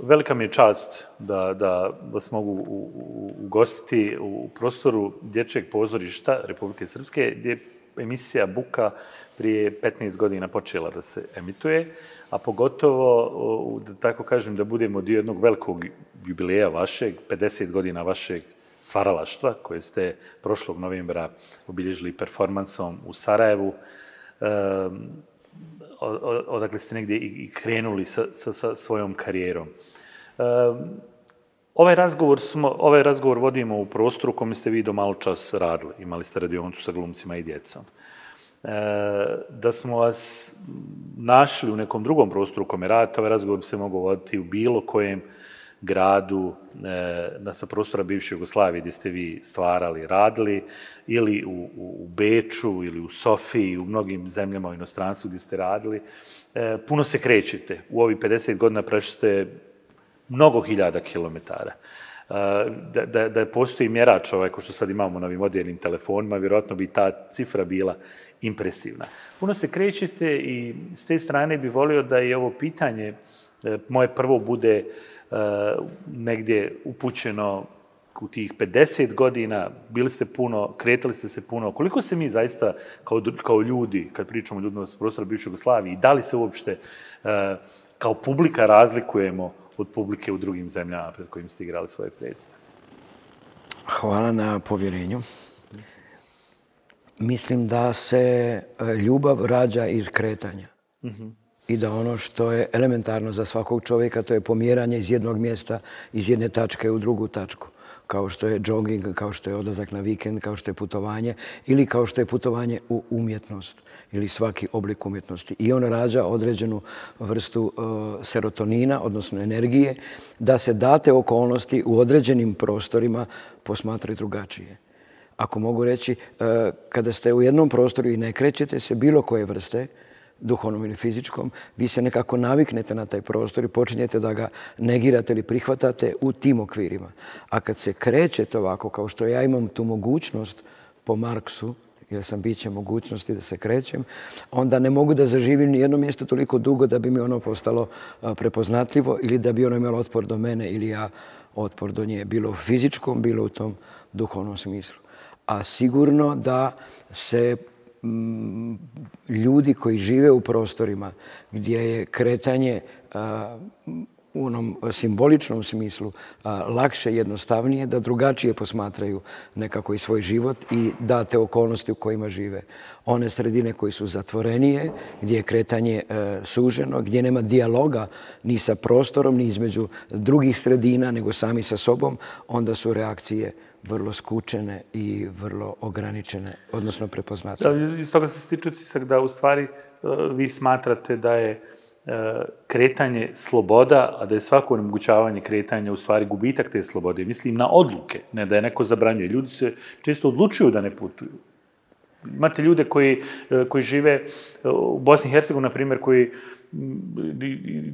Velika mi je čast da vas mogu ugostiti u prostoru Dječjeg pozorišta Republike Srpske, gdje je emisija Buka prije 15 godina počela da se emituje, a pogotovo, da tako kažem, da budemo dio jednog velikog jubileja vašeg, 50 godina vašeg stvaralaštva, koje ste prošlog novembra obilježili performansom u Sarajevu, odakle ste negdje i krenuli sa svojom karijerom. Ovaj razgovor vodimo u prostoru u kome ste vi do malo čas radili. Imali ste radionicu sa glumcima i djecom. Da smo vas našli u nekom drugom prostoru u kome radite, ovaj razgovor bi se mogao voditi u bilo kojem gradu sa prostora bivše Jugoslavije gdje ste vi stvarali, radili, ili u Beču, ili u Sofiji, u mnogim zemljama u inostranstvu gdje ste radili. Puno se krećete. U ovih 50 godina prešli ste mnogo hiljada kilometara. Da postoji mjerač ko što sad imamo na ovim modernim telefonima, vjerojatno bi ta cifra bila impresivna. Puno se krećete i s te strane bi volio da i ovo pitanje moje prvo bude negdje upućeno u tih 50 godina, bili ste puno, kretali ste se puno. Koliko se mi zaista kao ljudi, kad pričamo o ljudima s prostora bivše Jugoslavije, i da li se uopšte kao publika razlikujemo od publike u drugim zemljama pred kojim ste igrali svoje predstave? Hvala na povjerenju. Mislim da se ljubav rađa iz kretanja. I da ono što je elementarno za svakog čovjeka, to je pomjeranje iz jednog mjesta, iz jedne tačke u drugu tačku. Kao što je jogging, kao što je odlazak na vikend, kao što je putovanje ili kao što je putovanje u umjetnost ili svaki oblik umjetnosti. I on rađa određenu vrstu serotonina, odnosno energije, da se date okolnosti u određenim prostorima posmatraju drugačije. Ako mogu reći, kada ste u jednom prostoru i ne krećete se bilo koje vrste, duhovnom ili fizičkom, vi se nekako naviknete na taj prostor i počinjete da ga negirate ili prihvatate u tim okvirima. A kad se krećete ovako, kao što ja imam tu mogućnost po Marksu, jer sam biće mogućnosti da se krećem, onda ne mogu da zaživim ni jedno mjesto toliko dugo da bi mi ono postalo prepoznatljivo ili da bi ono imalo otpor do mene ili ja otpor do nje, bilo u fizičkom, bilo u tom duhovnom smislu. A sigurno da se ljudi koji žive u prostorima gdje je kretanje u onom simboličnom smislu lakše, jednostavnije, da drugačije posmatraju nekako i svoj život i date okolnosti u kojima žive. One sredine koje su zatvorenije, gdje je kretanje suženo, gdje nema dijaloga ni sa prostorom, ni između drugih sredina, nego sami sa sobom, onda su reakcije vrlo skučene i vrlo ograničene, odnosno prepoznatljive. Iz toga se stiče utisak da u stvari vi smatrate da je kretanje sloboda, a da je svako onemogućavanje kretanja u stvari gubitak te slobode. Mislim na odluke, ne da je neko zabranjuje. Ljudi se često odlučuju da ne putuju. Imate ljude koji žive u Bosni i Hercegovini, na primjer,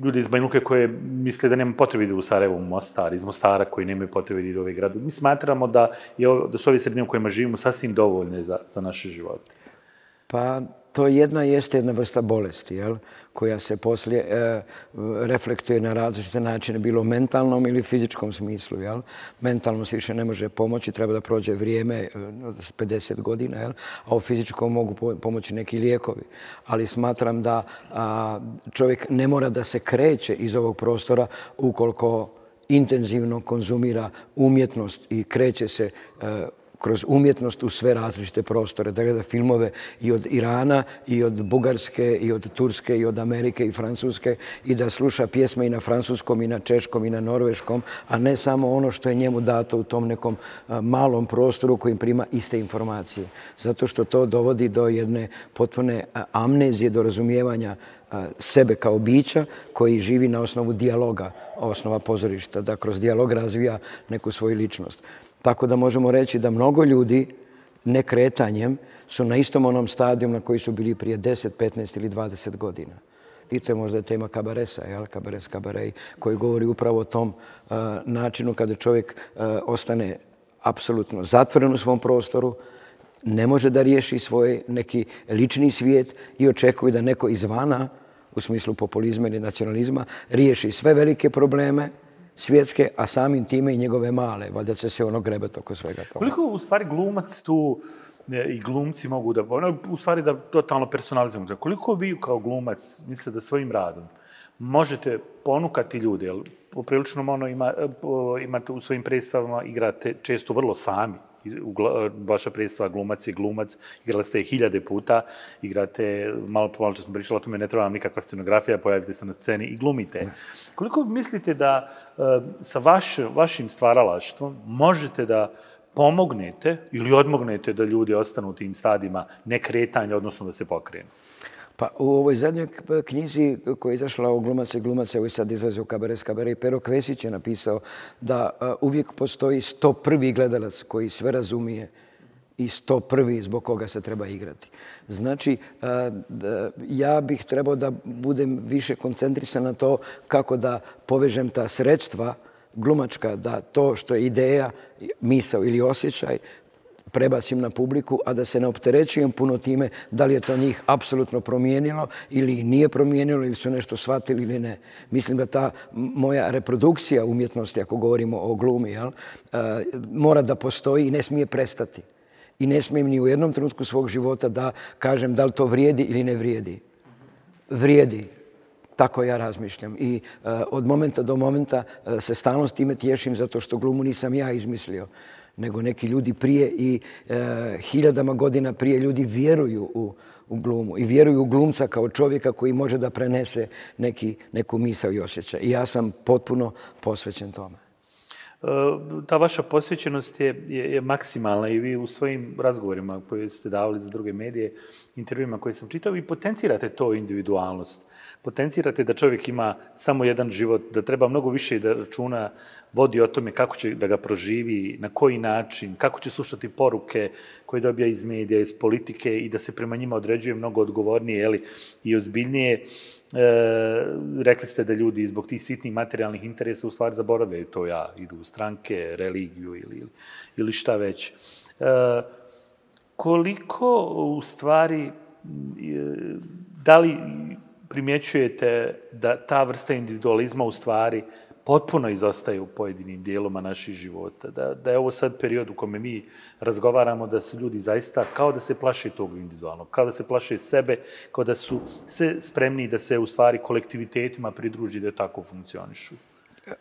ljudi iz Banja Luke koje misle da nema potrebe da idu u Sarajevo, u Mostar, iz Mostara koji nemaju potrebe da idu u ovaj grad. Mi smatramo da su ove sredine u kojima živimo sasvim dovoljne za naše živote. Pa to jeste jedna vrsta bolesti, koja se poslije reflektuje na različite načine, bilo u mentalnom ili fizičkom smislu. Mentalno se više ne može pomoći, treba da prođe vrijeme od 50 godina, a u fizičkom mogu pomoći neki lijekovi. Ali smatram da čovjek ne mora da se kreće iz ovog prostora ukoliko intenzivno konzumira umjetnost i kreće se kroz umjetnost u sve različite prostore, da gleda filmove i od Irana, i od Bugarske, i od Turske, i od Amerike, i Francuske, i da sluša pjesme i na francuskom, i na češkom, i na norveškom, a ne samo ono što je njemu dato u tom nekom malom prostoru kojim prima iste informacije. Zato što to dovodi do jedne potpune amnezije, do razumijevanja sebe kao bića koji živi na osnovu dijaloga, osnova pozorišta, da kroz dijalog razvija neku svoju ličnost. Tako da možemo reći da mnogo ljudi nekretanjem su na istom onom stadiju na koji su bili prije 10, 15 ili 20 godina. I to je možda tema kabaresa, kabares kabarej, koji govori upravo o tom načinu kada čovjek ostane apsolutno zatvoren u svom prostoru, ne može da riješi svoj neki lični svijet i očekuje da neko izvana u smislu populizma ili nacionalizma, riješi sve velike probleme svjetske, a samim time i njegove male. Valjda će se ono grebati oko svega toga. Koliko u stvari glumac tu i glumci mogu da, u stvari da totalno personalizujemo, koliko vi kao glumac mislite da svojim radom možete ponukati ljude, jer poprilično imate u svojim predstavama, igrate često vrlo sami, vaša predstava glumac je glumac, igrali ste je 1000 puta, igrate, malo čas smo pričali o tome, ne treba vam nikakva scenografija, pojavite se na sceni i glumite. Koliko mislite da sa vašim stvaralaštvom možete da pomognete ili odmognete da ljudi ostanu u tim stadima nekretanja, odnosno da se pokrenu? Pa u ovoj zadnjoj knjizi koja je izašla o glumaca i glumaca, evo sad izlazi u Kabare s Kabare, i Pero Kvesić je napisao da uvijek postoji 101. gledalac koji sve razumije i 101. zbog koga se treba igrati. Znači, ja bih trebao da budem više koncentrisan na to kako da povežem ta sredstva glumačka, da to što je ideja, misao ili osjećaj prebacim na publiku, a da se ne opterećujem puno time da li je to njih apsolutno promijenilo ili nije promijenilo ili su nešto shvatili ili ne. Mislim da ta moja reprodukcija umjetnosti, ako govorimo o glumi, mora da postoji i ne smije prestati. I ne smijem ni u jednom trenutku svog života da kažem da li to vrijedi ili ne vrijedi. Vrijedi. Tako ja razmišljam. I od momenta do momenta se stalno s time tješim zato što glumu nisam ja izmislio, nego neki ljudi prije i 1000 godina prije ljudi vjeruju u glumu i vjeruju u glumca kao čovjeka koji može da prenese neku misao i osjećaj. I ja sam potpuno posvećen tome. Ta vaša posvećenost je maksimalna i vi u svojim razgovorima koje ste davali za druge medije, intervjuima koje sam čitao, i potencirate to individualnost. Potencirate da čovjek ima samo jedan život, da treba mnogo više da računa vodi o tome kako će da ga proživi, na koji način, kako će slušati poruke koje dobija iz medija, iz politike i da se prema njima određuje mnogo odgovornije i ozbiljnije. Rekli ste da ljudi zbog tih sitnih materijalnih interesa u stvari zaboravljaju to, idu u stranke, religiju ili šta već. Koliko u stvari, da li primjećujete da ta vrsta individualizma u stvari potpuno izostaje u pojedinim dijeloma naših života, da je ovo sad period u kome mi razgovaramo da su ljudi zaista kao da se plaše tog individualnog, kao da se plaše sebe, kao da su se spremni da se u stvari kolektivitetima pridruži da tako funkcionišu.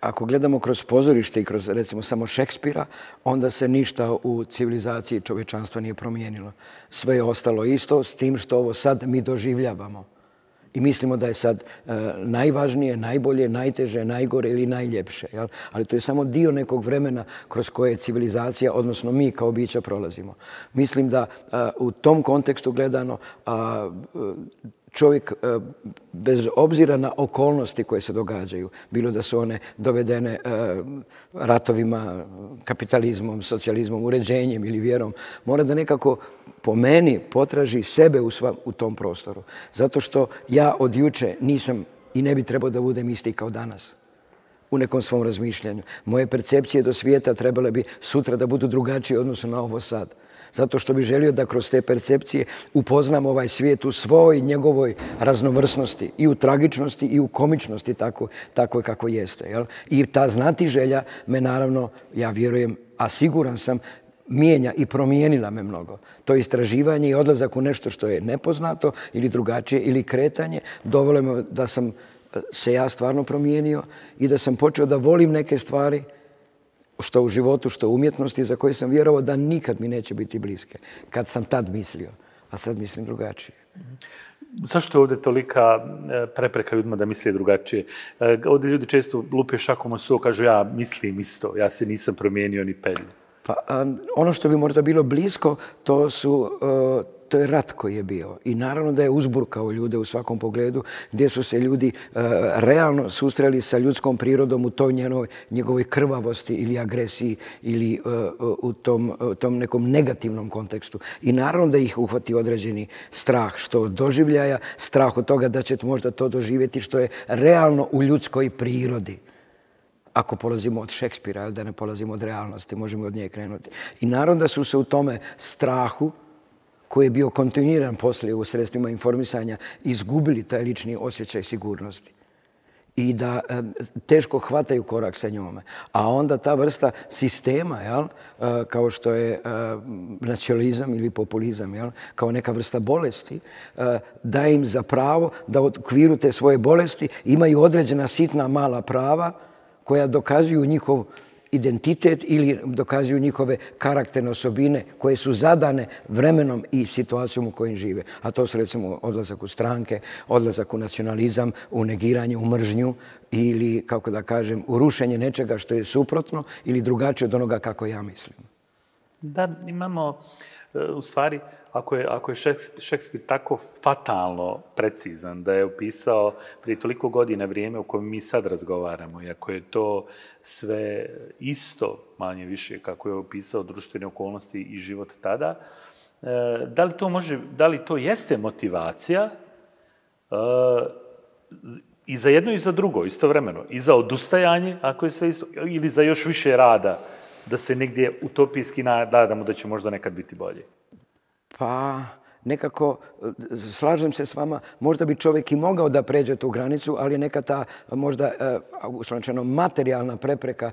Ako gledamo kroz pozorište i kroz, recimo, samo Šekspira, onda se ništa u civilizaciji čovječanstva nije promijenilo. Sve je ostalo isto, s tim što ovo sad mi doživljavamo. I mislimo da je sad najvažnije, najbolje, najteže, najgore ili najljepše. Ali to je samo dio nekog vremena kroz koje civilizacija, odnosno mi kao bića, prolazimo. Mislim da u tom kontekstu gledano čovjek, bez obzira na okolnosti koje se događaju, bilo da su one dovedene ratovima, kapitalizmom, socijalizmom, uređenjem ili vjerom, mora da nekako po meni potraži sebe u tom prostoru. Zato što ja od juče nisam i ne bi trebao da budem isti kao danas u nekom svom razmišljanju. Moje percepcije do svijeta trebale bi sutra da budu drugačije odnosno na ovo sad. Zato što bih želio da kroz te percepcije upoznam ovaj svijet u svoj njegovoj raznovrsnosti, i u tragičnosti i u komičnosti tako kako jeste. I ta znatiželja me naravno, ja vjerujem, a siguran sam, mijenja i promijenila me mnogo. To istraživanje i odlazak u nešto što je nepoznato ili drugačije ili kretanje dovelo me da sam se ja stvarno promijenio i da sam počeo da volim neke stvari, što u životu, što u umjetnosti, za koje sam vjerovao da nikad mi neće biti bliske. Kad sam tad mislio, a sad mislim drugačije. Zašto je ovdje tolika prepreka ljudima da misle drugačije? Ovdje ljudi često lupe šakom o sto, kažu ja mislim isto, ja se nisam promijenio ni pelju. Pa ono što bi možda bilo blisko, to je rat koji je bio. I naravno da je uzburkao ljude u svakom pogledu, gdje su se ljudi realno susreli sa ljudskom prirodom u toj njegovoj krvavosti ili agresiji ili u tom nekom negativnom kontekstu. I naravno da ih uhvati određeni strah, što od doživljaja, strah od toga da će možda to doživjeti što je realno u ljudskoj prirodi. Ako polazimo od Šekspira, da ne polazimo od realnosti, možemo od nje krenuti. I naravno da su se u tome strahu koji je bio kontinuiran poslije u sredstvima informisanja, izgubili taj lični osjećaj sigurnosti i da teško hvataju korak sa njome. A onda ta vrsta sistema, kao što je nacionalizam ili populizam, kao neka vrsta bolesti, daje im za pravo da u okviru te svoje bolesti imaju određena sitna mala prava koja dokazuju njihov identitet ili dokazuju njihove karakterne osobine koje su zadane vremenom i situacijom u kojim žive. A to su recimo odlazak u stranke, odlazak u nacionalizam, u negiranje, u mržnju ili, kako da kažem, u rušenje nečega što je suprotno ili drugačije od onoga kako ja mislim. Da, imamo, u stvari, ako je Šekspir tako fatalno precizan da je opisao prije toliko godina vrijeme u kojem mi sad razgovaramo i ako je to sve isto, manje više, kako je opisao društvene okolnosti i život tada, da li to jeste motivacija i za jedno i za drugo istovremeno, i za odustajanje, ako je sve isto, ili za još više rada, da se negdje utopijski nadamo da će možda nekad biti bolje? Pa nekako, slažem se s vama, možda bi čovjek i mogao da pređe tu granicu, ali neka ta možda uslovno materijalna prepreka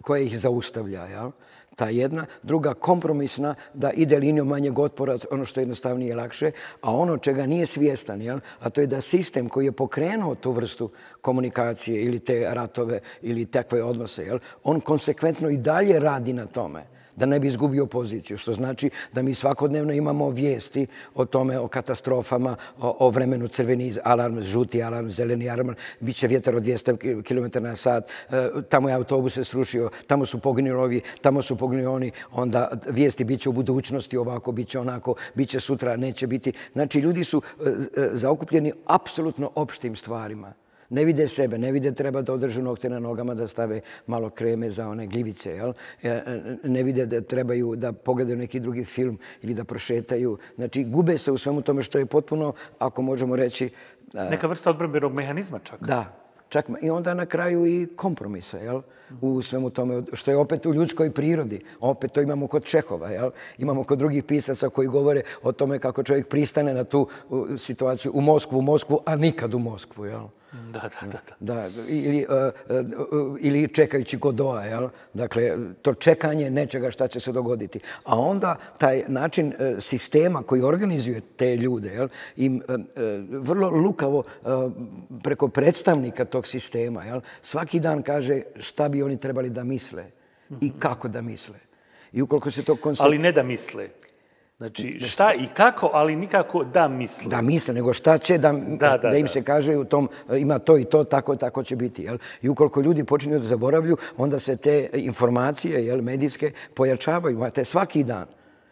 koja ih zaustavlja, jel? Ta jedna. Druga, kompromisna, da ide linijom manjeg otpora, ono što je jednostavnije i lakše, a ono čega nije svjestan, jel? A to je da sistem koji je pokrenuo tu vrstu komunikacije ili te ratove ili takve odnose, jel? On konsekventno i dalje radi na tome da ne bi izgubio poziciju, što znači da mi svakodnevno imamo vijesti o tome, o katastrofama, o vremenu crveni alarm, žuti alarm, zeleni alarm, bit će vjetar od 200 km na sat, tamo je autobus se srušio, tamo su poginuli ovi, tamo su poginuli oni, onda vijesti bit će u budućnosti ovako, bit će onako, bit će sutra, neće biti. Znači, ljudi su zaokupljeni apsolutno opštim stvarima. Ne vide sebe, ne vide treba da održe nokte na nogama, da stave malo kreme za one gljivice, jel? Ne vide da trebaju da pogledaju neki drugi film ili da prošetaju. Znači, gube se u svemu tome što je potpuno, ako možemo reći... Neka vrsta odbrambenog mehanizma čak. Da, čak i onda na kraju i kompromisa, jel? U svemu tome, što je opet u ljudskoj prirodi. Opet to imamo kod Čehova, jel? Imamo kod drugih pisaca koji govore o tome kako čovjek pristane na tu situaciju u Moskvu, a nikad u Moskvu, jel? Da, ili čekajući Godoa, jel? Dakle, to čekanje nečega šta će se dogoditi. A onda taj način sistema koji organizuje te ljude, jel? Im vrlo lukavo preko predstavnika tog sistema, jel? Svaki dan kaže šta bi oni trebali da misle i kako da misle. I ukoliko se to Ali ne da misle. Znači, šta i kako, ali nikako da misle. Da misle, nego šta će da im se kaže u tom, ima to i to, tako će biti. Jel? I ukoliko ljudi počinju da zaboravlju, onda se te informacije, jel, medijske pojačavaju. Imate svaki dan.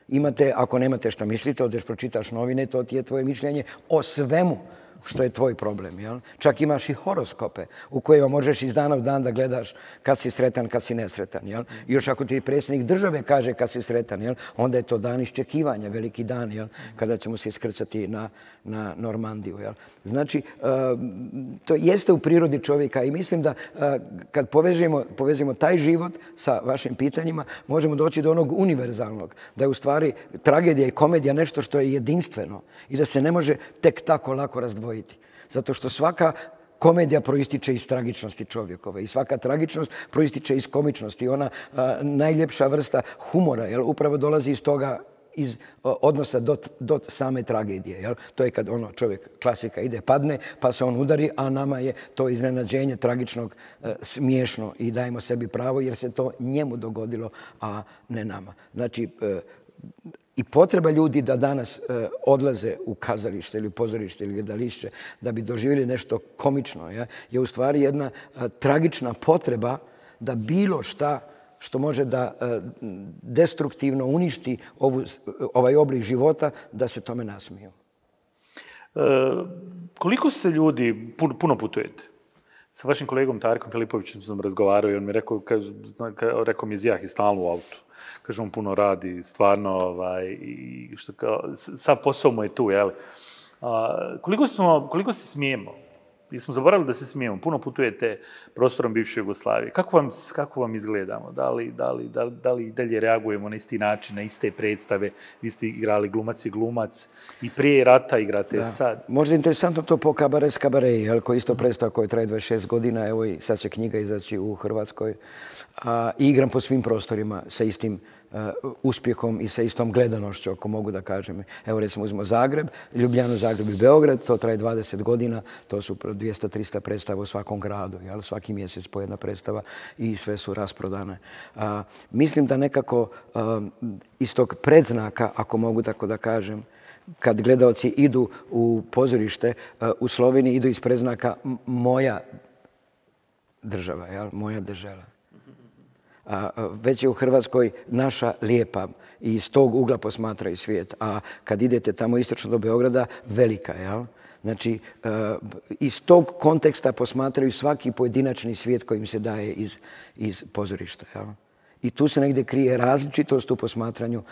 Imate, ako nemate šta mislite, odeš pročitaš novine, to ti je tvoje mišljenje o svemu što je tvoj problem. Jel? Čak imaš i horoskope u kojima možeš iz dana u dan da gledaš kad si sretan, kad si nesretan. Jel? I još ako ti predsjednik države kaže kad si sretan, jel? Onda je to dan iščekivanja, veliki dan, jel? Kada ćemo se iskrcati na Normandiju. Jel? Znači, to jeste u prirodi čovjeka i mislim da kad povežemo taj život sa vašim pitanjima, možemo doći do onog univerzalnog, da je u stvari tragedija i komedija nešto što je jedinstveno i da se ne može tek tako lako razdvojiti. Zato što svaka komedija proističe iz tragičnosti čovjekove i svaka tragičnost proističe iz komičnosti. Ona najljepša vrsta humora, jel, upravo dolazi iz toga, iz odnosa do same tragedije. Jel? To je kad čovjek, klasika, ide, padne, pa se on udari, a nama je to iznenađenje tragičnog smiješno i dajemo sebi pravo jer se to njemu dogodilo, a ne nama. Znači, i potreba ljudi da danas odlaze u kazalište ili pozorište ili gledalište da bi doživjeli nešto komično, je u stvari jedna tragična potreba da bilo šta što može da destruktivno uništi ovaj oblik života, da se tome nasmiju. Koliko se ljudi, puno putujete? Sa vašim kolegom Tarikom Filipovićem sam razgovarao i on mi rekao mi izjah i stalno u autu. Kaže, on puno radi, stvarno, i sav posao mu je tu, jel? Koliko se smijemo? Mi smo zaboravili da se smijemo. Puno putujete prostorom bivše Jugoslavije. Kako vam izgledamo? Da li i dalje reagujemo na isti način, na iste predstave? Vi ste igrali glumac i glumac i prije rata igrate sad. Možda je interesantno to po Kabaret s Kabaret, koji je isto predstava koja traje 26 godina. Evo i sad će knjiga izaći u Hrvatskoj. I igram po svim prostorima sa istim uspjehom i sa istom gledanošću, ako mogu da kažem. Evo recimo uzmemo Zagreb, Ljubljanu, Zagreb i Beograd, to traje 20 godina, to su 200-300 predstava u svakom gradu, svaki mjesec po jedna predstava i sve su rasprodane. Mislim da nekako iz tog predznaka, ako mogu tako da kažem, kad gledaoci idu u pozorište u Sloveniji, idu iz predznaka moja država, moja država. Već je u Hrvatskoj naša lijepa i iz tog ugla posmatraju svijet. A kad idete tamo istočno do Beograda, velika, jel? Znači, iz tog konteksta posmatraju svaki pojedinačni svijet koji im se daje iz pozorišta, jel? I tu se negdje krije različitost u posmatranju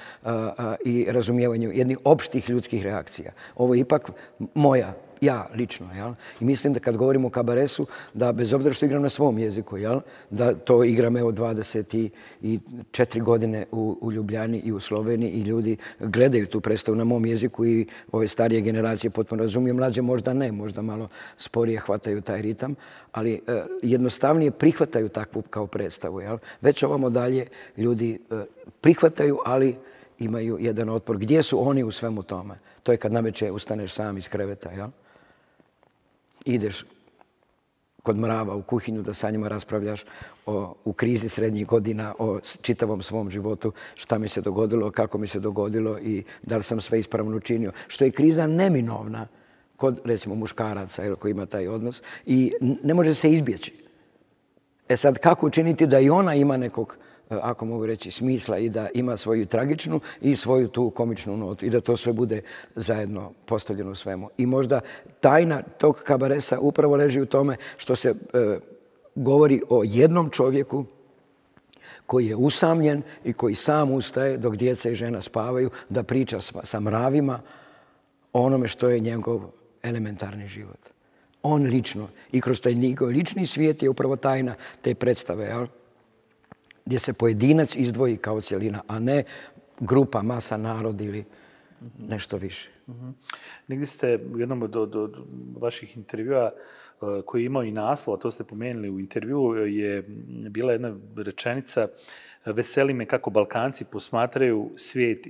i razumijevanju jednih opštih ljudskih reakcija. Ovo je ipak moja, ja lično. I mislim da kad govorimo o kabaresu, da bez obzira što igram na svom jeziku, da to igram evo 24 godine u Ljubljani i u Sloveniji i ljudi gledaju tu predstavu na mom jeziku i ove starije generacije potpuno razumiju, mlađe možda ne, možda malo sporije hvataju taj ritam, ali jednostavnije prihvataju takvu kao predstavu. Već ovamo dalje ljudi prihvataju, ali imaju jedan otpor. Gdje su oni u svemu tome? To je kad navečer ustaneš sam iz kreveta, jel? Ideš kod mrava u kuhinju da sa njima raspravljaš u krizi srednjih godina, o čitavom svom životu, šta mi se dogodilo, kako mi se dogodilo i da li sam sve ispravno učinio. Što je kriza neminovna kod, recimo, muškaraca koji ima taj odnos i ne može se izbjeći. E sad, kako učiniti da i ona ima nekog, ako mogu reći, smisla i da ima svoju tragičnu i svoju tu komičnu notu i da to sve bude zajedno postavljeno u svemu. I možda tajna tog kabaresa upravo leži u tome što se govori o jednom čovjeku koji je usamljen i koji sam ustaje dok djeca i žena spavaju da priča sa mravima o onome što je njegov elementarni život. On lično i kroz taj njegov lični svijet je upravo tajna te predstave, jel? Gdje se pojedinac izdvoji kao cjelina, a ne grupa, masa, narod ili nešto više. Negdje ste u jednom od vaših intervjua koji je imao i naslov, a to ste pomenuli u intervjuu, je bila jedna rečenica: veseli me kako Balkanci posmatraju svijet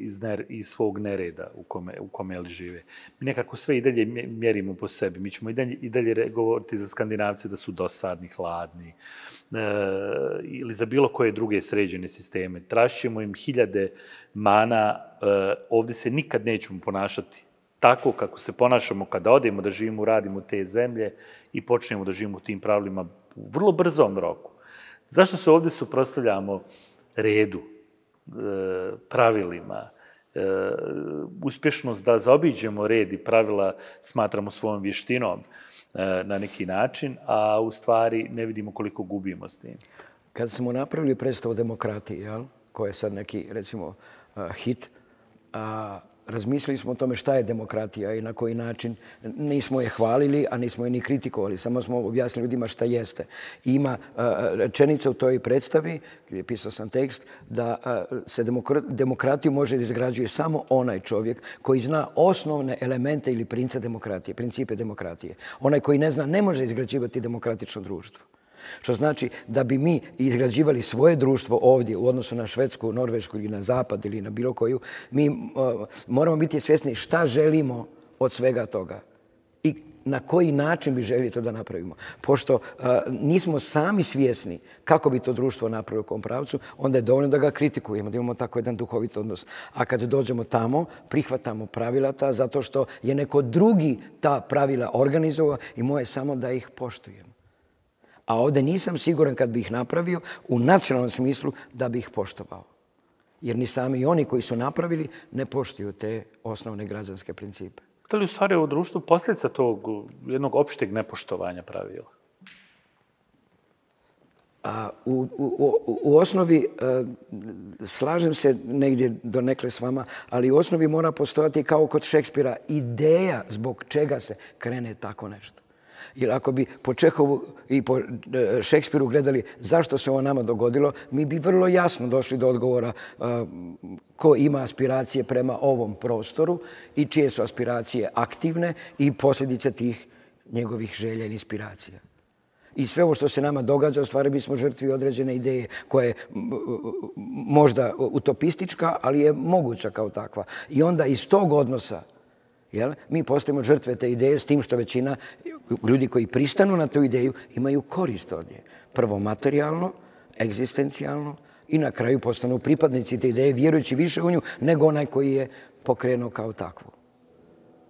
iz svog nereda u kome žive. Mi nekako sve i dalje mjerimo po sebi. Mi ćemo i dalje govoriti za Skandinavce da su dosadni, hladni ili za bilo koje druge sređene sisteme. Tražimo im hiljade mana. Ovdje se nikad nećemo ponašati tako kako se ponašamo kada odemo da živimo, radimo te zemlje i počnemo da živimo u tim pravilima u vrlo brzom roku. Zašto se ovdje suprotstavljamo redu, pravilima, uspješnost da zaobiđemo red i pravila smatramo svojom vještinom na neki način, a u stvari ne vidimo koliko gubimo s tim? Kad smo napravili predstavu demokratije, koja je sad neki, recimo, hit, razmislili smo o tome šta je demokratija i na koji način. Nismo je hvalili, a nismo je ni kritikovali. Samo smo objasnili ljudima šta jeste. Ima rečenica u toj predstavi, gdje pisao sam tekst, da se demokratiju može da izgrađuje samo onaj čovjek koji zna osnovne elemente ili principe demokratije. Onaj koji ne zna ne može izgrađivati demokratično društvo. Što znači da bi mi izgrađivali svoje društvo ovdje u odnosu na Švedsku, Norvešku ili na Zapad ili na bilo koju, mi moramo biti svjesni šta želimo od svega toga i na koji način bi željeli to da napravimo. Pošto nismo sami svjesni kako bi to društvo napravilo u kom pravcu, onda je dovoljno da ga kritikujemo, da imamo tako jedan duhovit odnos. A kad dođemo tamo, prihvatamo pravila ta zato što je neko drugi ta pravila organizovao i moje samo da ih poštujemo. A ovdje nisam siguran kad bi ih napravio u nacionalnom smislu da bi ih poštovao. Jer ni sami oni koji su napravili ne poštuju te osnovne građanske principe. Da li u stvari u društvu posljedica tog jednog opšteg nepoštovanja pravila? U osnovi, slažem se negdje donekle s vama, ali u osnovi mora postojati kao kod Šekspira ideja zbog čega se krene tako nešto. Jer ako bi po Čehovu i po Šekspiru gledali zašto se ovo nama dogodilo, mi bi vrlo jasno došli do odgovora ko ima aspiracije prema ovom prostoru i čije su aspiracije aktivne i posljedice tih njegovih želja ili inspiracija. I sve ovo što se nama događa, u stvari mi smo žrtvi određene ideje koja je možda utopistička, ali je moguća kao takva. I onda iz tog odnosa mi postajemo žrtve te ideje s tim što većina ljudi koji pristanu na tu ideju imaju korist od nje. Prvo materijalno, egzistencijalno i na kraju postanu pripadnici te ideje vjerujući više u nju nego onaj koji je pokrenuo kao takvu.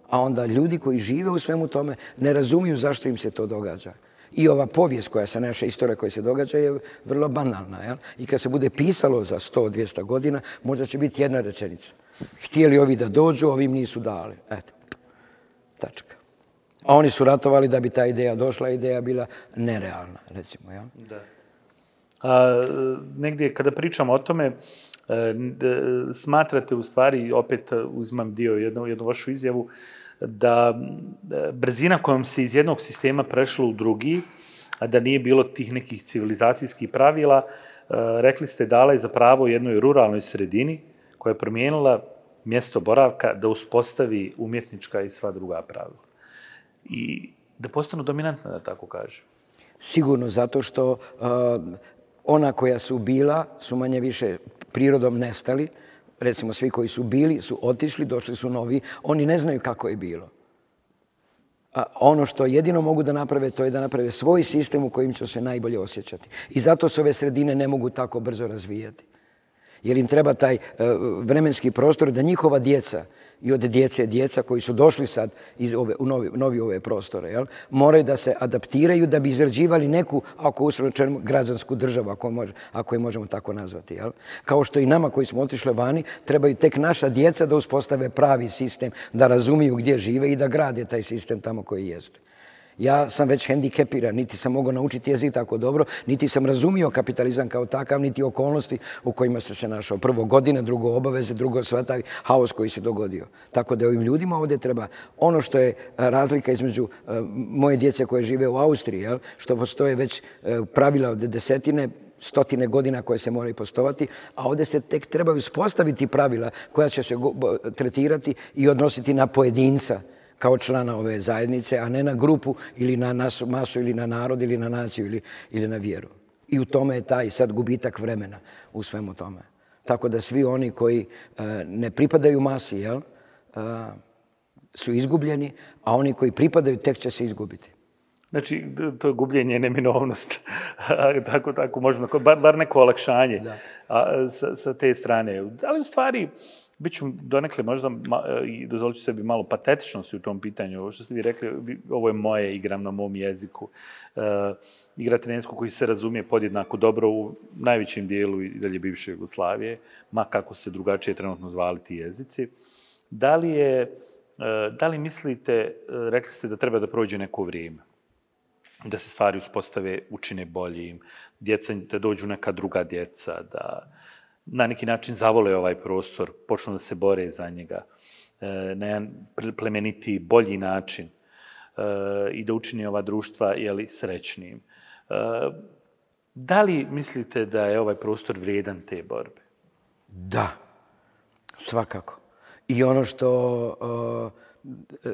A onda ljudi koji žive u svemu tome ne razumiju zašto im se to događa. I ova povijest koja se, naša istorija koja se događa je vrlo banalna. I kad se bude pisalo za 100-200 godina, možda će biti jedna rečenica. Htjeli ovi da dođu, ovim nisu dali. Eto, tačka. A oni su ratovali da bi ta ideja došla, ideja bila nerealna, recimo. Da. Negdje kada pričamo o tome, smatrate u stvari, opet uzmam dio jednu vašu izjavu, da brzina kojom se iz jednog sistema prešlo u drugi, a da nije bilo tih nekih civilizacijskih pravila, rekli ste dala je za pravo jednoj ruralnoj sredini koja je promijenila mjesto boravka da uspostavi umjetnička i sva druga pravila. I da postanu dominantna, da tako kažem. Sigurno, zato što ona koja su bila su manje više prirodom nestali. Recimo, svi koji su bili su otišli, došli su novi. Oni ne znaju kako je bilo. A ono što jedino mogu da naprave, to je da naprave svoj sistem u kojim će se najbolje osjećati. I zato se ove sredine ne mogu tako brzo razvijati. Jer im treba taj vremenski prostor da njihova djeca i od djeca koji su došli sad u novi ove prostore, moraju da se adaptiraju da bi izrađivali neku, ako uslovno građansku državu, ako je možemo tako nazvati. Kao što i nama koji smo otišli vani, trebaju tek naša djeca da uspostave pravi sistem, da razumiju gdje žive i da grade taj sistem tamo koji jeste. Ja sam već hendikepiran, niti sam mogao naučiti jezik tako dobro, niti sam razumio kapitalizam kao takav, niti okolnosti u kojima sam se našao. Prvo godine, drugo obaveze, drugo sva taj haos koji se dogodio. Tako da ovim ljudima ovdje treba ono što je razlika između moje djece koje žive u Austriji, što postoje već pravila od desetine, stotine godina koje se moraju postovati, a ovdje se tek trebaju uspostaviti pravila koja će se tretirati i odnositi na pojedinca kao člana ove zajednice, a ne na grupu ili na masu ili na narod ili na naciju ili na vjeru. I u tome je taj sad gubitak vremena u svemu tome. Tako da svi oni koji ne pripadaju masi su izgubljeni, a oni koji pripadaju tek će se izgubiti. Znači, to gubljenje je neminovnost. tako možemo, bar neko olakšanje sa te strane. Ali u stvari, bit ću donekle možda, i dozvolit ću sebi malo patetičnosti u tom pitanju. Ovo što ste vi rekli, ovo je moje, igram na mom jeziku. Igrate na jeziku koji se razumije podjednako dobro u najvećem dijelu i dalje bivše Jugoslavije, ma kako se drugačije trenutno zvali ti jezici. Da li mislite, rekli ste da treba da prođe neko vrijeme, da se stvari uspostave, učine boljim, djeca, da dođu neka druga djeca, da na neki način zavole ovaj prostor, počnu da se bore za njega na jedan plemeniti, bolji način i da učini ova društva srećnijim. Da li mislite da je ovaj prostor vrijedan te borbe? Da, svakako. I ono što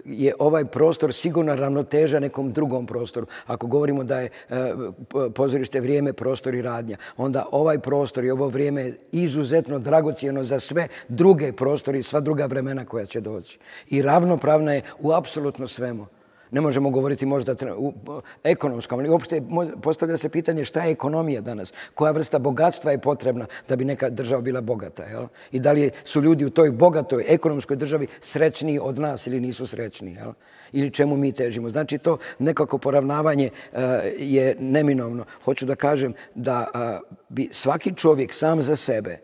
je ovaj prostor sigurno ravnoteža nekom drugom prostoru. Ako govorimo da je pozorište vrijeme, prostor i radnja, onda ovaj prostor i ovo vrijeme je izuzetno dragocjeno za sve druge prostori i sva druga vremena koja će doći. I ravnopravna je u apsolutno svemu. Ne možemo govoriti možda u ekonomskom, ali uopšte postavlja se pitanje šta je ekonomija danas, koja vrsta bogatstva je potrebna da bi neka država bila bogata. I da li su ljudi u toj bogatoj ekonomskoj državi srećniji od nas ili nisu srećniji. Ili čemu mi težimo. Znači to nekako poravnavanje je neminovno. Hoću da kažem da bi svaki čovjek sam za sebe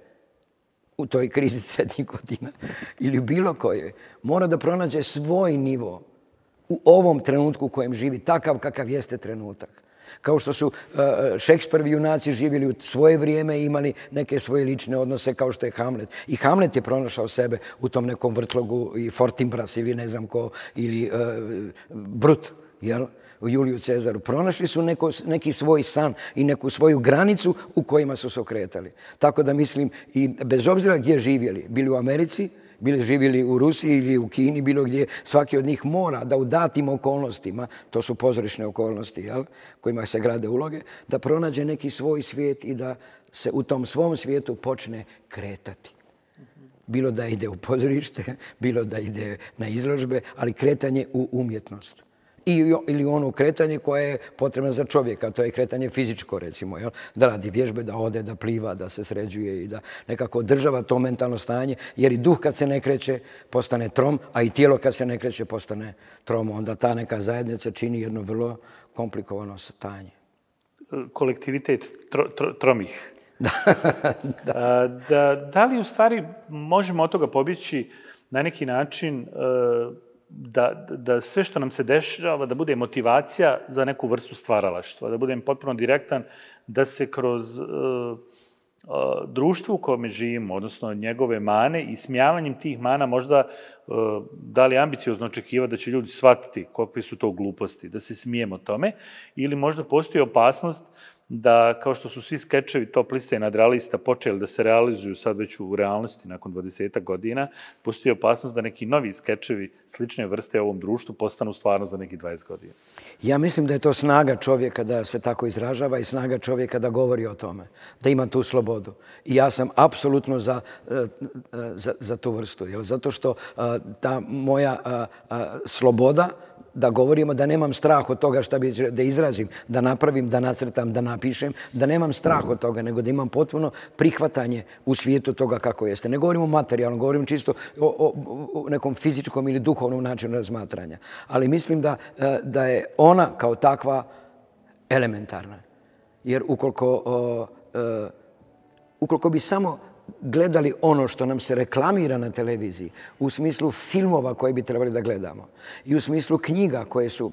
u toj krizi srednjih godina ili u bilo kojoj mora da pronađe svoj nivo u ovom trenutku u kojem živi, takav kakav jeste trenutak. Kao što su Šekspirovi junaci živjeli u svoje vrijeme i imali neke svoje lične odnose kao što je Hamlet. I Hamlet je pronašao sebe u tom nekom vrtlogu i Fortinbras ili ne znam ko, ili Brut, jel? U Juliju Cezaru. Pronašli su neki svoj san i neku svoju granicu u kojima su se okretali. Tako da mislim, i bez obzira gdje živjeli, bili u Americi, bili živjeli u Rusiji ili u Kini, bilo gdje, svaki od njih mora da u datim okolnostima, to su pozorišne okolnosti, jel, kojima se grade uloge, da pronađe neki svoj svijet i da se u tom svom svijetu počne kretati. Bilo da ide u pozorište, bilo da ide na izložbe, ali kretanje u umjetnost. Ili ono kretanje koje je potrebno za čovjeka, to je kretanje fizičko, recimo, jel? Da radi vježbe, da ode, da pliva, da se sređuje i da nekako održava to mentalno stanje, jer i duh kad se ne kreće postane trom, a i tijelo kad se ne kreće postane trom. Onda ta neka zajednica čini jedno vrlo komplikovano stanje. Kolektivitet tromih. Da li u stvari možemo od toga pobjeći na neki način da sve što nam se dešava da bude motivacija za neku vrstu stvaralaštva, da budem potpuno direktan, da se kroz društvo u kome živimo, odnosno njegove mane i smijavanjem tih mana možda da li ambiciozno očekivati da će ljudi shvatiti kakve su to gluposti, da se smijemo tome, ili možda postoji opasnost da, kao što su svi skečevi top liste nadrealista počeli da se realizuju sad već u realnosti nakon 20 godina, postoji opasnost da neki novi skečevi slične vrste u ovom društvu postanu stvarno za nekih 20 godina. Ja mislim da je to snaga čovjeka da se tako izražava i snaga čovjeka da govori o tome, da ima tu slobodu. I ja sam apsolutno za tu vrstu, zato što ta moja sloboda da govorimo, da nemam strah od toga šta bi da izrazim, da napravim, da nacrtam, da napišem, da nemam strah od toga, nego da imam potpuno prihvatanje u svijetu toga kako jeste. Ne govorimo materijalno, govorim čisto o nekom fizičkom ili duhovnom načinu razmatranja. Ali mislim da je ona kao takva elementarna. Jer ukoliko bi samo gledali ono što nam se reklamira na televiziji, u smislu filmova koje bi trebali da gledamo i u smislu knjiga koje su,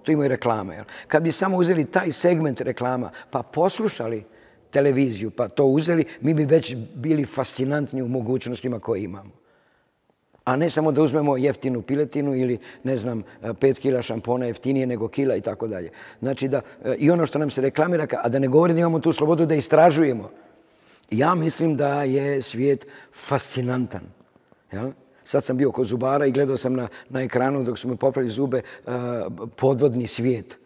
tu imaju reklame. Kad bi samo uzeli taj segment reklama pa poslušali televiziju pa to uzeli, mi bi već bili fascinantni u mogućnostima koje imamo. A ne samo da uzmemo jeftinu piletinu ili, ne znam, 5 kila šampona jeftinije nego kila i tako dalje. Znači da i ono što nam se reklamira, a da ne govori da imamo tu slobodu da istražujemo. Ja mislim da je svijet fascinantan. Sad sam bio kod zubara i gledao sam na ekranu dok su me popravili zube podvodni svijet.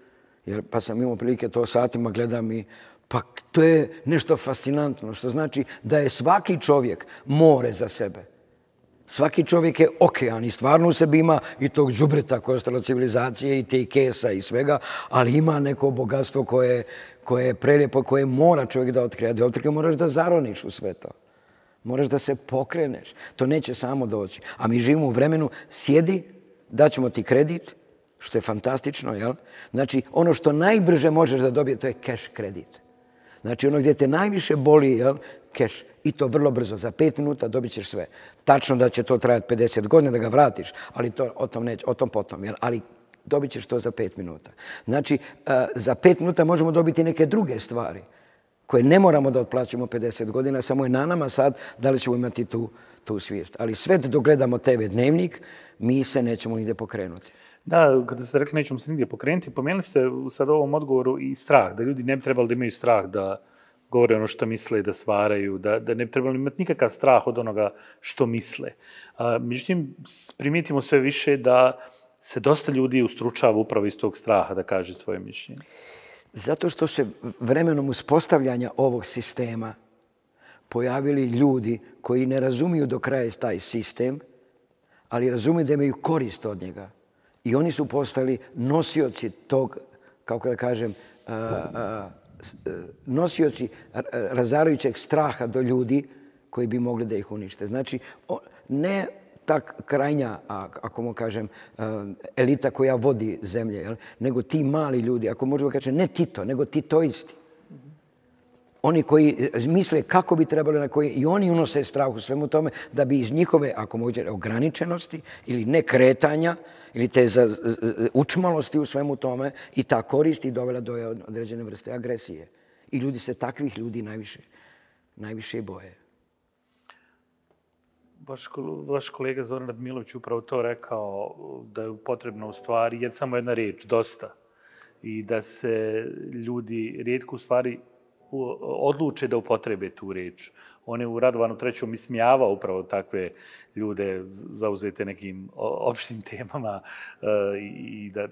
Pa sam imao prilike to satima gledam i pa to je nešto fascinantno, što znači da je svaki čovjek more za sebe. Svaki čovjek je okean i stvarno u sebi ima i tog đubreta koje je ostalo civilizacije i te kesa i svega, ali ima neko bogatstvo koje je prelijepo, koje mora čovjek da otkrije. Da otkrije moraš da zaroniš u sve to. Moraš da se pokreneš. To neće samo doći. A mi živimo u vremenu, sjedi, daćemo ti kredit, što je fantastično, jel? Znači, ono što najbrže možeš da dobije, to je cash kredit. Znači, ono gdje te najviše boli, jel? Cash. I to vrlo brzo. Za 5 minuta dobit ćeš sve. Tačno da će to trajati 50 godina da ga vratiš, ali o tom potom, jel? Ali dobit ćeš to za 5 minuta. Znači, za 5 minuta možemo dobiti neke druge stvari koje ne moramo da otplaćamo 50 godina, samo je na nama sad da li ćemo imati tu svijest. Ali sve dok gledamo TV Dnevnik, mi se nećemo nigdje pokrenuti. Da, kada ste rekli nećemo se nigdje pokrenuti, pomenuli ste sad u ovom odgovoru i strah, da ljudi ne bi trebali da imaju strah da govore ono što misle i da stvaraju, da ne bi trebali imati nikakav strah od onoga što misle. Međutim, primijetimo sve više da se dosta ljudi ustručava upravo iz tog straha da kaže svoje mišljenje. Zato što se vremenom uspostavljanja ovog sistema pojavili ljudi koji ne razumiju do kraja taj sistem, ali razumiju da imaju korist od njega. I oni su postali nosioci tog, kako da kažem, nosioci razarajućeg straha do ljudi koji bi mogli da ih unište. Znači, ne ta krajnja, ako mu kažem, elita koja vodi zemlje, nego ti mali ljudi, ako možemo kažem, ne Tito, nego titoisti. Oni koji misle kako bi trebali, na koji i oni unose strah u svemu tome, da bi iz njihove, ako moguće, ograničenosti ili nekretanja, ili te učmalosti u svemu tome i ta korist i dovela do određene vrste agresije. I ljudi se takvih ljudi najviše boje. Vaš kolega Zoran Radmilović upravo to rekao, da je potrebno u stvari samo jedna riječ, dosta. I da se ljudi rijetko u stvari odluče da upotrebe tu riječ. On je u Radovanu III. Ismijavao upravo takve ljude zauzete nekim opštim temama i da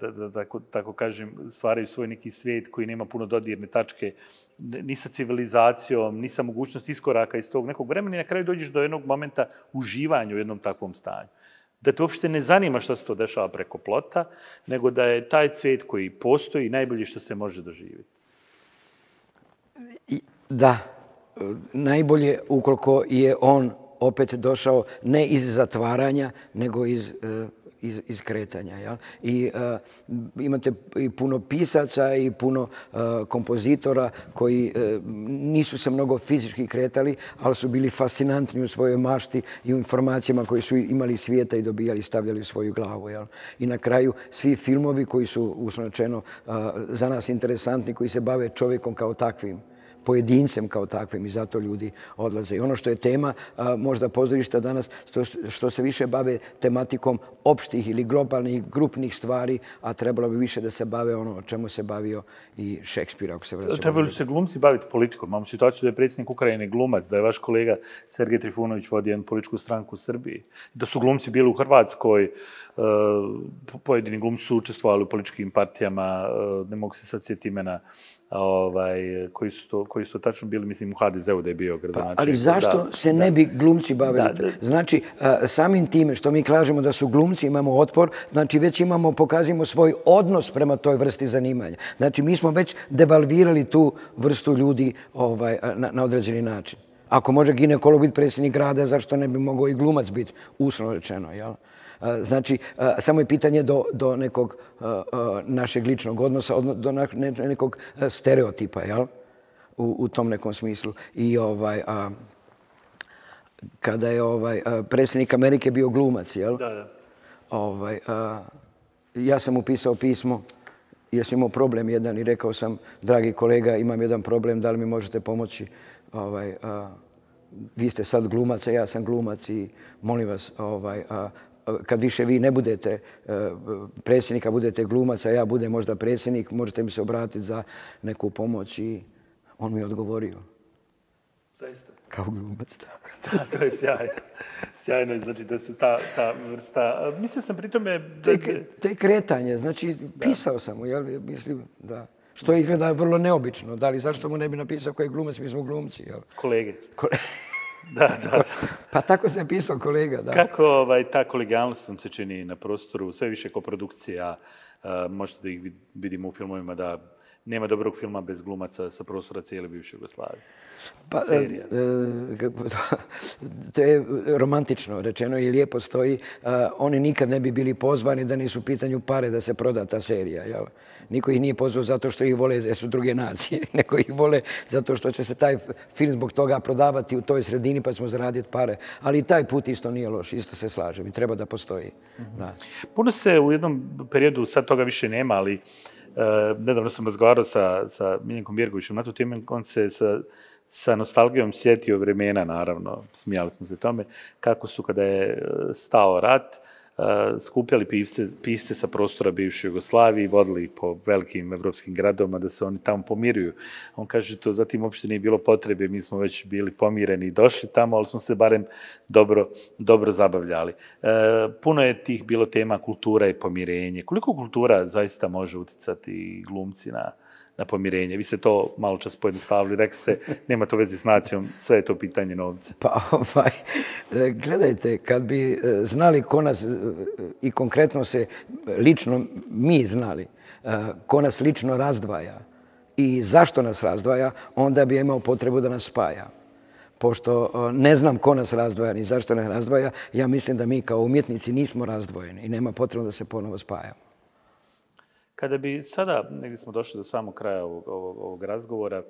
tako kažem, stvaraju svoj neki svijet koji nema puno dodirne tačke ni sa civilizacijom, ni sa mogućnost iskoraka iz tog nekog vremena i na kraju dođeš do jednog momenta uživanja u jednom takvom stanju. Da te uopšte ne zanima što se to dešava preko plota, nego da je taj cvijet koji postoji najbolje što se može doživjeti. Da, najbolje ukoliko je on opet došao ne iz zatvaranja, nego iz kretanja. I imate i puno pisaca i puno kompozitora koji nisu se mnogo fizički kretali, ali su bili fascinantni u svojoj mašti i u informacijama koje su imali svijeta i dobijali, stavljali u svoju glavu. I na kraju svi filmovi koji su, uslovno rečeno, za nas interesantni, koji se bave čovjekom kao takvim, pojedincem kao takvim i zato ljudi odlaze. I ono što je tema možda pozorišta danas, što se više bave tematikom opštih ili globalnih, grupnih stvari, a trebalo bi više da se bave ono o čemu se bavio i Šekspir, ako se vraćamo. Trebali se glumci baviti politikom? Imamo situaciju da je predsjednik Ukrajine glumac, da je vaš kolega Sergej Trifunović vodi jednu političku stranku u Srbiji, da su glumci bili u Hrvatskoj, pojedini glumci su učestvovali u političkim partijama, ne mogu se sad sjetiti imena, koji su to tačno bili, mislim, u HDZ-u da je bio gradonačelnik. Ali zašto se ne bi glumci bavili? Znači, samim time što mi kažemo da su glumci, imamo otpor, znači već pokazujemo svoj odnos prema toj vrsti zanimanja. Znači, mi smo već devalvirali tu vrstu ljudi na određeni način. Ako može ginekolog biti predsjednik grada, zašto ne bi mogao i glumac biti, uslovno rečeno, jel? Znači, samo je pitanje do nekog našeg ličnog odnosa, do nekog stereotipa, jel? U tom nekom smislu. I kada je predsjednik Amerike bio glumac, jel? Ja sam mu pisao pismo jer sam imao problem jedan i rekao sam, dragi kolega, imam jedan problem, da li mi možete pomoći? Vi ste sad glumac, a ja sam glumac i molim vas, kad više vi ne budete predsjednika, budete glumac, a ja budem možda predsjednik, možete mi se obratiti za neku pomoć i on mi je odgovorio. Zaista? Kao glumac, da. Da, to je sjajno. Sjajno je, znači da se ta vrsta... Mislio sam pri tome... To je kretanje, znači pisao sam mu, jel? Mislim, da. Što izgleda vrlo neobično. Da li zašto mu ne bi napisao koji je glumac, mi smo glumci, jel? Kolege. Da. Pa tako sam pisao kolega, da. Kako ta kolegijalnost vam se čini na prostoru, sve više koprodukcija, možete da ih vidimo u filmovima da nema dobrog filma bez glumaca sa prostora cijele bivše Jugoslavije. Pa, to je romantično rečeno i lijepo stoji. Oni nikad ne bi bili pozvani da nisu u pitanju pare da se proda ta serija. Jel? Niko ih nije pozvao zato što ih vole, jer su druge nacije, nego ih vole zato što će se taj film zbog toga prodavati u toj sredini pa ćemo zaraditi pare. Ali i taj put isto nije loš, isto se slažem i treba da postoji. Da. Puno se u jednom periodu, sad toga više nema, ali nedavno sam razgovarao sa Miljenkom Bjergovićem na tu temu, on se sa nostalgijom sjetio vremena, naravno, smijali smo se tome, kako su kada je stao rat, skupljali pisce sa prostora bivše Jugoslavije i vodili ih po velikim evropskim gradovima da se oni tamo pomiruju. On kaže to zatim uopšte nije bilo potrebe, mi smo već bili pomireni i došli tamo, ali smo se barem dobro zabavljali. Puno je tih bilo tema kultura i pomirenje. Koliko kultura zaista može uticati glumci na pomirenje? Vi ste to malo čas pojednostavili, rekli ste, nema to veze s nacijom, sve je to pitanje novca. Pa, gledajte, kad bi znali ko nas, i konkretno se lično mi znali, ko nas lično razdvaja i zašto nas razdvaja, onda bi imao potrebu da nas spaja. Pošto ne znam ko nas razdvaja ni zašto nas razdvaja, ja mislim da mi kao umjetnici nismo razdvojeni i nema potrebu da se ponovo spajamo. Kada bi sada, negdje smo došli do samog kraja ovog razgovora,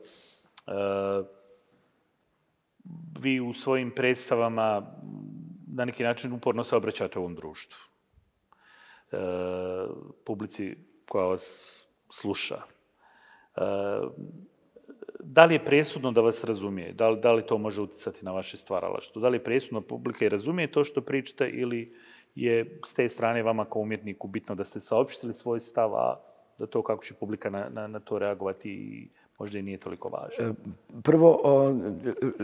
vi u svojim predstavama na neki način uporno se obraćate ovom društvu. publici koja vas sluša. Da li je presudno da vas razumije? Da li to može utjecati na vaše stvaralaštvo? Da li je presudno publika i razumije to što pričate ili je s te strane vama kao umjetniku bitno da ste saopštili svoj stav, a da to kako će publika na to reagovati možda i nije toliko važno? Prvo,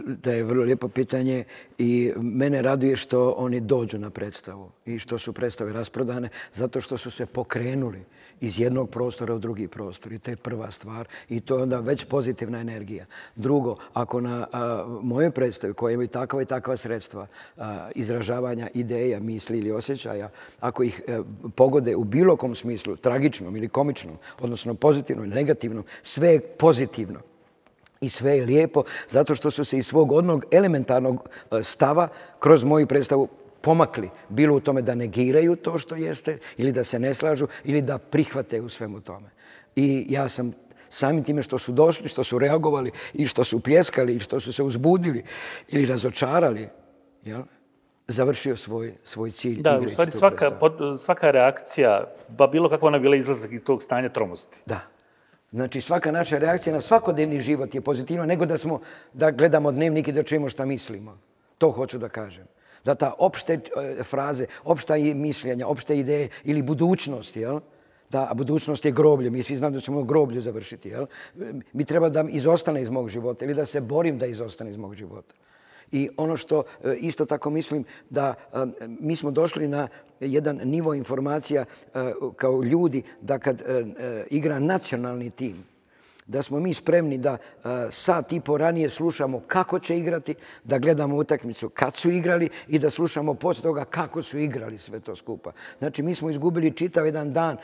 da je vrlo lijepo pitanje i mene raduje što oni dođu na predstavu i što su predstave rasprodane zato što su se pokrenuli iz jednog prostora u drugi prostor i to je prva stvar i to je onda već pozitivna energija. Drugo, ako na mojoj predstavi koja imaju takva i takva sredstva izražavanja ideja, misli ili osjećaja, ako ih pogode u bilo kom smislu, tragičnom ili komičnom, odnosno pozitivnom ili negativnom, sve je pozitivno. I sve je lijepo zato što su se iz svog onog elementarnog stava kroz moju predstavu pomakli. Bilo u tome da negiraju to što jeste ili da se ne slažu ili da prihvate u svemu tome. I ja sam samim time što su došli, što su reagovali i što su pljeskali i što su se uzbudili ili razočarali, završio svoj cilj. Da, u stvari svaka reakcija, bilo kakva ona bila izlazak iz tog stanja tromosti. Da. Znači, svaka naša reakcija na svakodnevni život je pozitivna nego da gledamo dnevnik i da čujemo šta mislimo. To hoću da kažem. Da ta opšte fraze, opšta mišljenja, opšte ideje ili budućnost, da budućnost je groblje, mi svi znamo da ćemo groblju završiti, mi treba da izostane iz mog života ili da se borim da izostane iz mog života. I ono što isto tako mislim da mi smo došli na jedan nivo informacija kao ljudi da kad igra nacionalni tim, da smo mi spremni da sat i po ranije slušamo kako će igrati, da gledamo utakmicu kad su igrali i da slušamo poslije toga kako su igrali sve to skupa. Znači, mi smo izgubili čitav jedan dan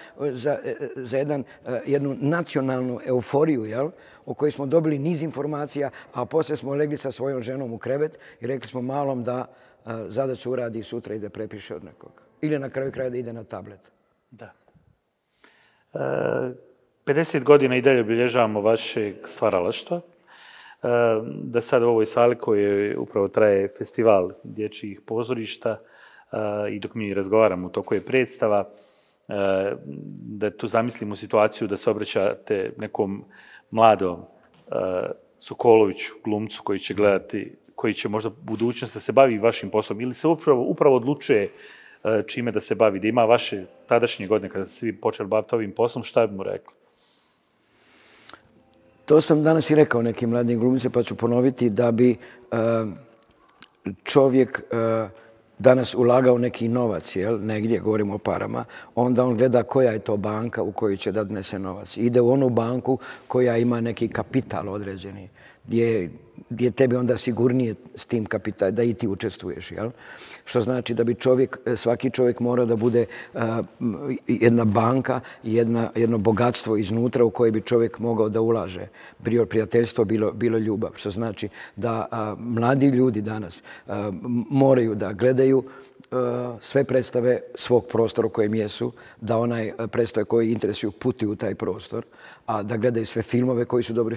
za jednu nacionalnu euforiju, o kojoj smo dobili niz informacija, a poslije smo legli sa svojom ženom u krevet i rekli smo malom da zadaću uradi sutra i da prepiše od nekoga. Ili na kraju kraja da ide na tablet. Da. 50 godina i dalje obilježavamo vašeg stvaralaštva. Da sad u ovoj sali koji upravo traje festival dječjih pozorišta i dok mi razgovaramo u toku je predstava, da tu zamislimo situaciju da se obraćate nekom mladom Sokoloviću, glumcu koji će gledati, koji će možda u budućnosti da se bavi vašim poslom ili se upravo odlučuje čime da se bavi, da ima vaše tadašnje godine kada ste svi počeli baviti ovim poslom, šta bi mu rekli? To sam danas i rekao nekim mladim glumcima, pa ću ponoviti da bi čovjek danas ulagao neki novac, negdje, govorimo o parama, onda on gleda koja je to banka u kojoj će da donese novac. Ide u onu banku koja ima neki kapital određeni, gdje tebi onda sigurnije s tim kapitalom, da i ti učestvuješ. Što znači da bi svaki čovjek mora da bude jedna banka, jedno bogatstvo iznutra u koje bi čovjek mogao da ulaže. Bilo prijateljstvo, bilo ljubav. Što znači da mladi ljudi danas moraju da gledaju sve predstave svog prostora u kojem jesu, da onaj predstave koji interesuju putuju u taj prostor, a da gledaju sve filmove koji su dobri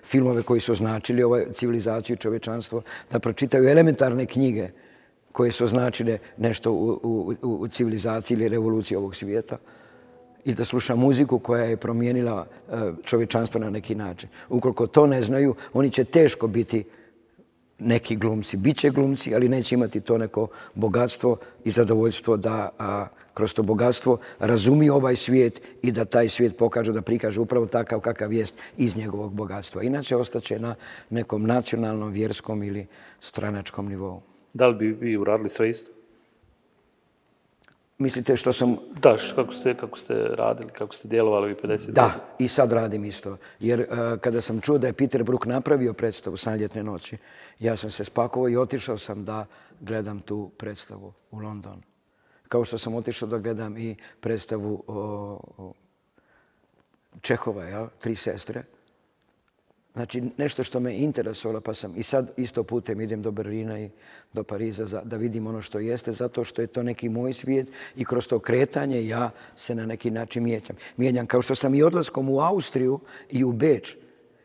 filmove koji su označili ovu civilizaciju i čovječanstvo, da pročitaju elementarne knjige koje su označile nešto u civilizaciji ili revoluciji ovog svijeta i da sluša muziku koja je promijenila čovječanstvo na neki način. Ukoliko to ne znaju, oni će teško biti neki glumci. Biće glumci, ali neće imati to neko bogatstvo i zadovoljstvo da kroz to bogatstvo razumiju ovaj svijet i da taj svijet pokažu, da prikažu upravo takav kakav jest iz njegovog bogatstva. Inače, ostaće na nekom nacionalnom, vjerskom ili stranačkom nivou. Da li bi vi uradili sve isto? Mislite što sam... Da, kako ste radili, kako ste djelovali u 50 godina? Da, i sad radim isto. Jer kada sam čuo da je Peter Brook napravio predstavu San ljetne noći, ja sam se spakovao i otišao sam da gledam tu predstavu u London. Kao što sam otišao da gledam i predstavu Čehova, Tri sestre. Znači, nešto što me interesovalo, pa sam i sad isto putem idem do Berlina i do Pariza da vidim ono što jeste, zato što je to neki moj svijet i kroz to kretanje ja se na neki način mijenjam. Kao što sam i odlaskom u Austriju i u Beč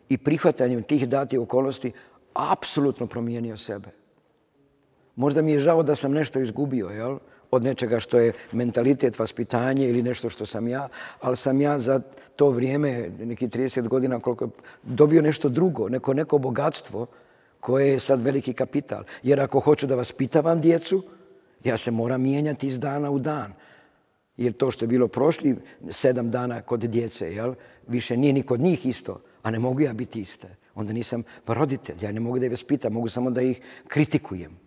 i prihvatanjem tih datih okolnosti apsolutno promijenio sebe. Možda mi je žao da sam nešto izgubio, od nečega što je mentalitet, vaspitanje ili nešto što sam ja, ali sam ja za to vrijeme, neki 30 godina, koliko dobio nešto drugo, neko bogatstvo koje je sad veliki kapital. Jer ako hoću da vaspitavam djecu, ja se moram mijenjati iz dana u dan. Jer to što je bilo prošli 7 dana kod djece, jel, više nije ni kod njih isto, a ne mogu ja biti iste. Onda nisam roditelj, ja ne mogu da ih vaspitam, mogu samo da ih kritikujem.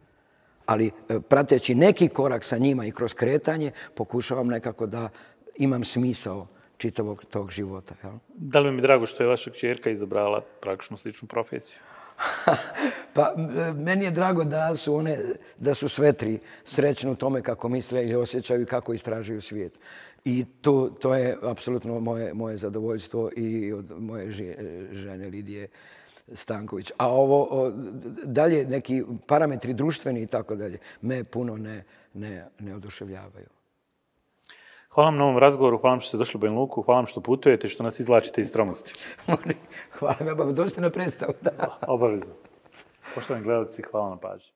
Ali prateći neki korak sa njima i kroz kretanje, pokušavam nekako da imam smisao čitavog tog života. Jel? Da li mi je drago što je vaša kćerka izabrala praktično sličnu profesiju? Pa meni je drago da su sve tri srećne u tome kako misle ili osjećaju i kako istražuju svijet. I to je apsolutno moje zadovoljstvo i od moje žene Lidije Stanković. A ovo dalje, neki parametri društveni i tako dalje, me puno ne oduševljavaju. Hvala vam na ovom razgovoru, hvala vam što ste došli u Banja Luku, hvala vam što putujete i što nas izvlačite iz tromosti. Hvala vam, dođite na predstavu. Obavezno. Poštovani gledalci, hvala na pažnji.